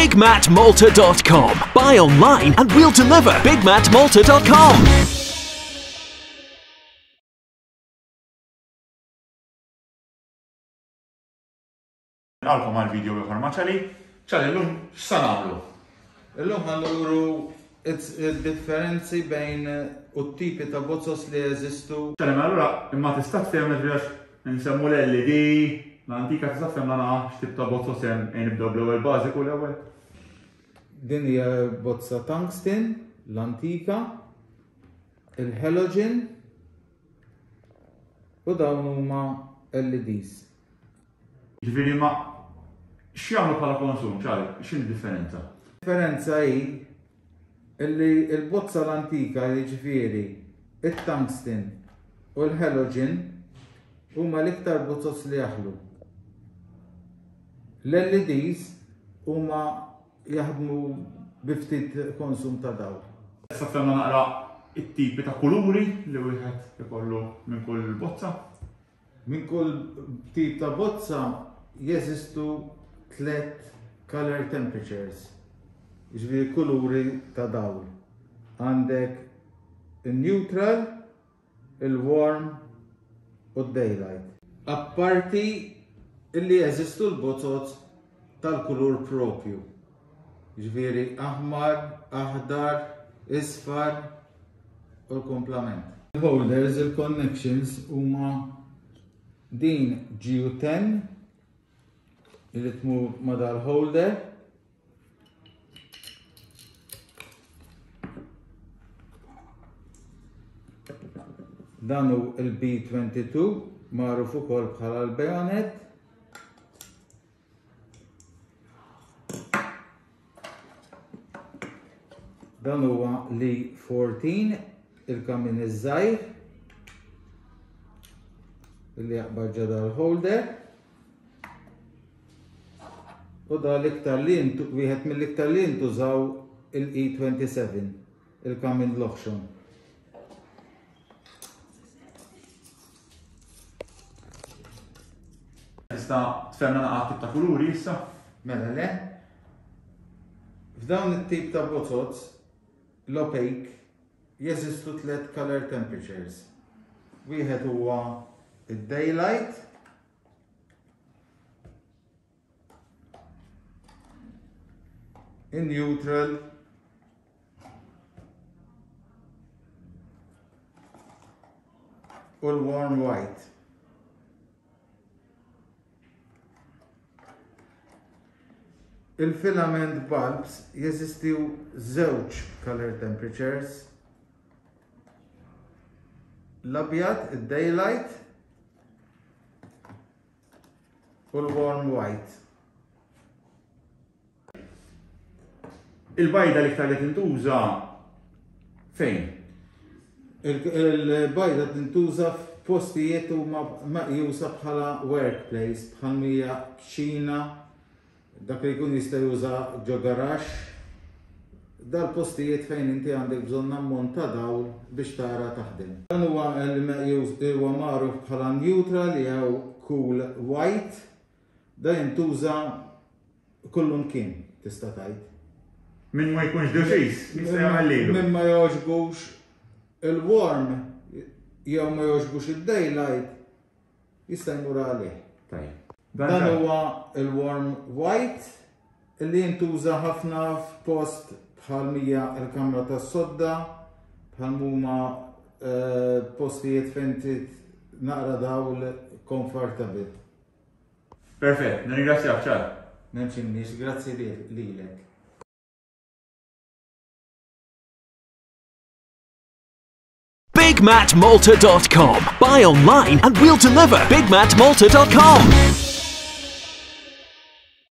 BigMatMalta.com. Buy online and we'll deliver. BigMatMalta.com. Nilqgħukom għal video ieħor ma' Ċali. Ċali, llum x'sa nagħmlu? Illum ħa nuru id-differenzi bejn u t-tipi ta' bozzos li jeżistu. Ċali, mela allura imma tista' tfehemna ġifieri għax nsemmu l-LED, l-antika tista' tfehemna naqra x'tip ta' bozzos hemm ejn nibdew bl-ewwel bażiku l-ewwel. Din hija bozza tungsten, l-antika, il-halogen u dawn huma LEDs. Ġifieri ma x'jagħmlu bħala konsum, ċari, x'inhi differenza? Differenza hi illi l-bozza l-antika jiġifieri it-tungsten u l-halogen huma l-iktar bozoz li jaħlu. L-LEDs huma jaħdmu bi ftit konsum ta' dawl. Issa fehmna naqra it-tipi ta' kuluri li wieħed ikollu minn kull bozza. Minn kull tip ta' bozza jeżistu tlett color temperatures, jiġifieri kuluri ta' dawl. Għandek in-neutral, il-warm u d-daylight. Apparti illi jeżistu l-bozoz tal-kulur propju, jiġifieri aħmar, aħdar, isfar u l-kumplament. Il-holders, il-connections huma din GU10 li tmur ma' dal-holder. Dan hu il-B22 magħruf ukoll bħala l-bayonet. Dan huwa li 14 il-kamin iż-żgħir li jaqbad ġo dal-holder. U da l-iktar li wieħed mill-iktar li jintużaw il-E27, il-kamin l-oħxon. Tista' tfehmna naqra tip ta' kuluri issa? Mela le. F'dawn it-tip ta' bozoz, l-opaque, jeżistu tlett color temperatures. Wieħed huwa id-daylight, in-neutral, u l-warm white. Il-filament bulbs jeżistiw żewġ color temperatures. L-abjad, id-daylight, u l-warm white. Il-bajda l-iktar li tintuża fejn? Il-bajda tintuża f'postijiet huma meqjusa bħala workplace, bħal mija kċina, dak li jkun jista' juża ġo garaxx, dal-postijiet fejn inti għandek bżonn ammont ta' dawl biex tara taħdem. Dan huwa l-meqjus huwa magħruf bħala neutral jew cool white. Da jintuża kullumkien tista' tgħid. Min ma jkunx deċiż, jista' jagħmel lilu. Min ma jogħġbux il-warm jew ma jogħġbux id-daylight jista' jmur għalih. Tajjeb. Dan huwa il-warm white li jintuża ħafna f'post bħal mija l-kamra tas-sodda, bħal huma eh, postijiet fejn trid naqra dawl comfortable. Perfett, nirringrazzjak ċar. M'hemmx imniex, grazzi lilek. BigMatMalta.com. Buy online and we'll deliver. BigMatMalta.com.